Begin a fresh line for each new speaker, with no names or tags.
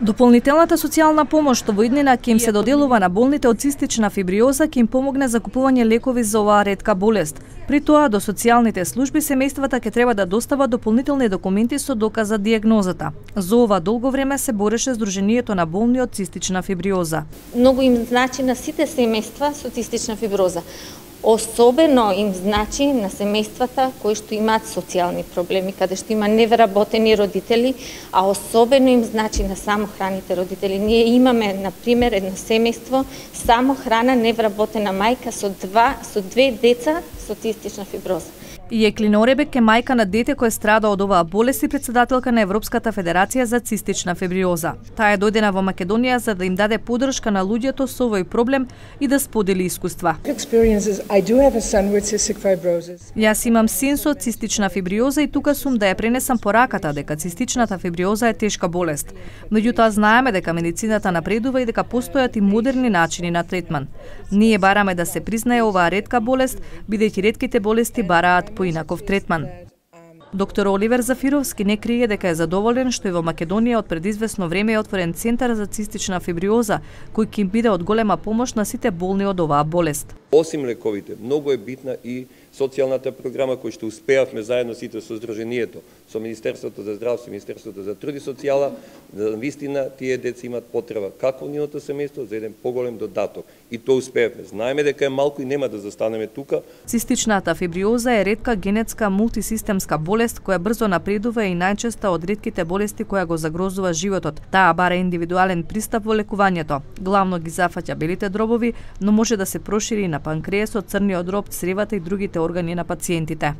Дополнителната социјална помош што во иднина ќе им се доделува на болните од цистична фибриоза ќе им помогне за купување лекови за оваа ретка болест. При тоа до социјалните служби семејствата ќе треба да достават дополнителни документи со доказ за дијагнозата. За ова долго време се бореше Сдруженијето на болни од цистична фибриоза.
Многу им значи на сите семејства со цистична фиброза. Особено им значи на семејствата кои што имаат социјални проблеми, каде што има невработени родители, а особено им значи на самохраните родители. Ние имаме, на пример, едно семејство, самохрана невработена мајка со две деца со цистична фиброза.
И Еклина Оребек е мајка на дете кој страда од оваа болест и председателка на Европската федерација за цистична фибриоза. Таа е дојдена во Македонија за да им даде поддршка на луѓето со овој проблем и да сподели искуства. Јас имам син со цистична фибриоза и тука сум да ја пренесам пораката дека цистичната фибриоза е тешка болест. Меѓутоа знаеме дека медицината напредува и дека постојат и модерни начини на третман. Ние бараме да се признае оваа ретка болест, бидејќи ретките болести бараат поинаков третман. Доктор Оливер Зафировски не крие дека е задоволен што и во Македонија од пред извесно време е отворен центар за цистична фибриоза, кој ќе им биде од голема помош на сите болни од оваа болест.
Осим лековите, многу е битна и социјалната програма која што успеавме заедно сите со Сдруженијето, со Министерството за здравство и Министерството за труд и социјала, да вистина тие деца имаат потреба како нивното семејство за еден поголем додаток. И тоа успеавме. Знаеме дека е малку и нема да застанеме тука.
Цистичната фибриоза е ретка генетска мултисистемска болест која брзо напредува и најчеста од ретките болести која го загрозува животот. Таа бара индивидуален пристап во лекувањето. Главно ги зафаќа белите дробови, но може да се прошири и на панкреасот, црниот дроб, цревата и другите органи на пациентите.